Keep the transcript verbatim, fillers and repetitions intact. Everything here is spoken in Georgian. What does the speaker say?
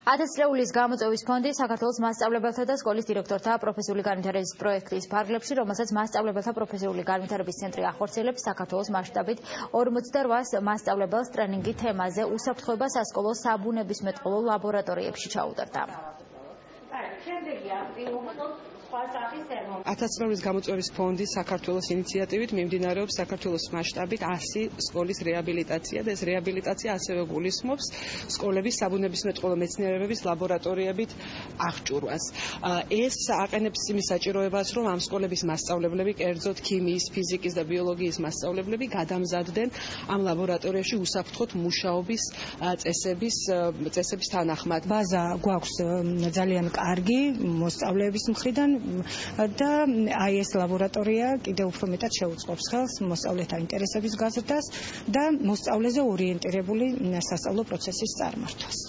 ათასწლეულის გამოწვევის ფონდი საქართველოს მასწავლებელთა და სკოლის დირექტორთა პროფესიული განვითარების პროექტის ფარგლებში, რომელსაც მასწავლებელთა პროფესიული განვითარების ცენტრი ახორციელებს, საქართველოს მასშტაბით ორმოცდაოთხ მასწავლებელს ტრენინგი თემაზე უსაფრთხოება სასკოლო საბუნებისმეტყველო ლაბორატორიებში ჩაუტარდა. ათასწლეულის გამოწვევის ფონდის საქართველოს ინიციატივით მიმდინარეობს საქართველოს მასშტაბით ასი სკოლის რეაბილიტაცია და ეს რეაბილიტაცია ასევე გულისხმობს სკოლების საბუნებისმეტყველო მეცნიერებების ლაბორატორიებით აღჭურვას. ეს აყენებს იმის საჭიროებას, რომ ამ სკოლების მასწავლებლები, კერძოდ ქიმიის, ფიზიკის და ბიოლოგიის მასწავლებლები გადამზადდნენ ამ ლაბორატორიაში უსაფრთხოდ მუშაობის წესების წესების თანახმად. ბაზა გვაქვს ძალიან კარგი მოსწავლეების მხრიდან და აი ეს ლაბორატორია კიდევ უფრო მეტად შეუწყობს ხელს მოსწავლეთა ინტერესების გაზრდას და მოსწავლეზე ორიენტირებული სასწავლო პროცესის წარმართვას.